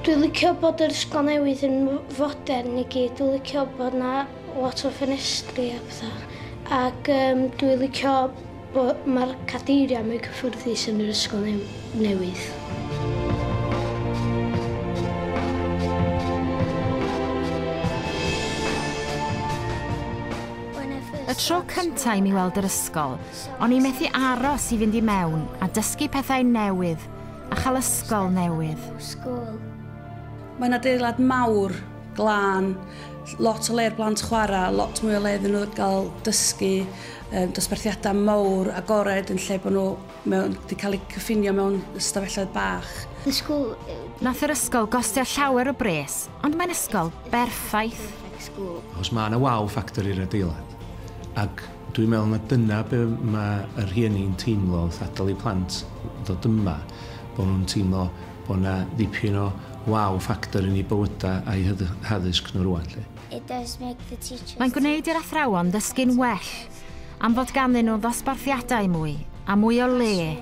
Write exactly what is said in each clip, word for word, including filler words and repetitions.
Dwi'n licio bod yr ysgol newydd yn fodern i gyd. Dwi'n licio bod 'na lot o ffenestri a pethau. Ac um, dwi'n licio bod mae'r cadeiriau mwy cyffyrddus yn yr ysgol newydd. Y tro cyntaf i mi weld yr ysgol, o'n i'n methu aros i fynd i mewn a dysgu pethau newydd a chael ysgol newydd. Mae'n adeilad mawr, glân, lot o le i'r blant chwarae, lot mwy o le iddyn nhw gael dysgu, um, dosbarthiadau mawr, agored yn lle bod nhw mewn, wedi cael eu cyffinio mewn ystafelloedd bach. Nath yr ysgol gostio llawer o bres, ond mae'n ysgol berffaith. Os mae yna wow factor i'r adeilad, ac dwi'n meddwl na dyna be mae y rhieni'n teimlo wrth adael eu plant ddod yma, bod nhw'n teimlo bod yna ddipyn o wow factor yn eu bywydau a'u haddysg nhw rwan. Mae'n gwneud i'r athrawon ddysgu'n well am fod ganddyn nhw ddosbarthiadau mwy a mwy o le.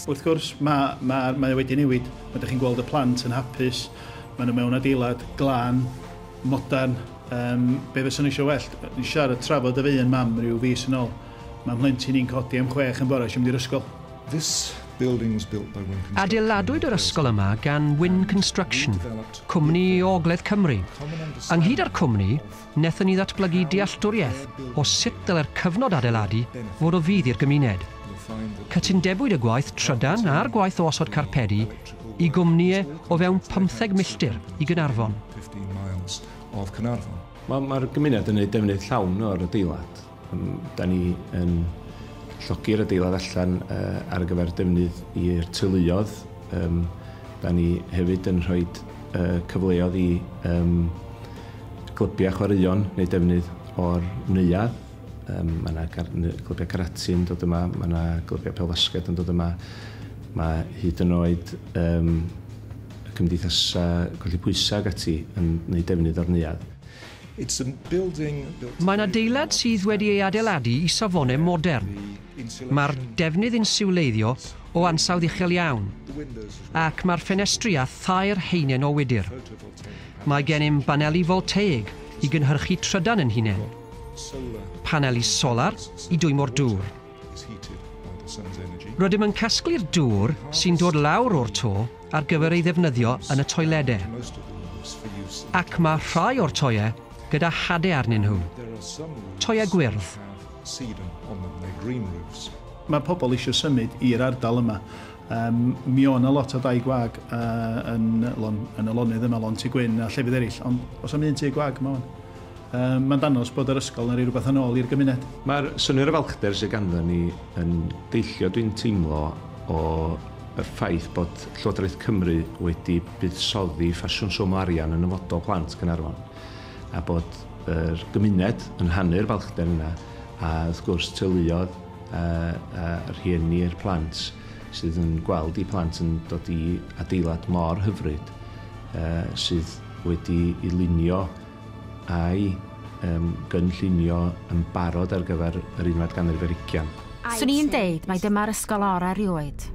Wrth gwrs, mae, mae, mae wedi newid. Mae ydych chi'n gweld y plant yn hapus, maen nhw mewn adeilad glân, modern. Um, be fyswn eisiau well, nes siarad trafod efo un mam rhyw fis yn ôl. Mae mhlentyn i'n codi am chwech yn bore eisiau mynd i'r ysgol. Adeiladwyd yr ysgol yma gan Wynne Construction, cwmni o Ogledd Cymru. Ynghyd â'r cwmni, wnaethon ni ddatblygu dealltwriaeth o sut dylai'r cyfnod adeiladu fod o fudd i'r gymuned. Cytundebwyd y gwaith trydan a'r gwaith o osod carpedi i gwmnïau o fewn pymtheg milltir i Gaernarfon. Mae'r ma gymuned yn gwneud defnydd llawn o'r adeilad. Da ni yn llogi'r adeilad allan uh, ar gyfer defnydd i'r teuluoedd. Um, da ni hefyd yn rhoi uh, cyfleoedd i um, glybiau chwaraeon neu defnydd o'r neuadd. Um, mae yna glybiau karate yn dod yma, mae yna glybiau pêl-fasged yn dod yma. Mae hyd yn oed um, cymdeithasau colli pwysau ac ati yn gwneud defnydd o'r neuadd. Mae'n adeilad sydd wedi ei adeiladu i safonau modern. Mae'r defnydd insiwleiddio o ansawdd uchel iawn, ac mae'r ffenestri â thair haenen o wydr. Mae gennym baneli voltaig i gynhyrchu trydan yn hunain, paneli solar i dwymo'r dŵr. Rydym yn casglu'r dŵr sy'n dod lawr o'r to ar gyfer ei ddefnyddio yn y toiledau. Ac mae rhai o'r toiau gyda hadau arnyn nhw. Toiau gwyrdd. Mae pobl eisiau symud i'r ardal yma. Um, mi o'n a lot o dai gwag uh, yn, lon, yn y lonydd yma, Lon Tŷ Gwyn a llefydd eraill, ond os am un tŷ gwag yma o'n. Um, mae'n dangos bod yr ysgol yn rhoi rhywbeth yn ôl i'r gymuned. Mae'r synnwyr o falchder sydd ganddo ni yn deillio, dwi'n teimlo, o y ffaith bod Llywodraeth Cymru wedi buddsoddi ffasiwn swm o arian yn nyfodol plant Caernarfon, a bod yr gymuned yn rhannu'r balchder yna, a wrth gwrs teuluoedd a, a rhieni'r plant sydd yn gweld eu plant yn dod i adeilad mor hyfryd uh, sydd wedi ei lunio a'i um, gynllunio yn barod ar gyfer yr unfed ganrif ar hugain. Swn i'n deud mai dyma'r ysgol orau erioed.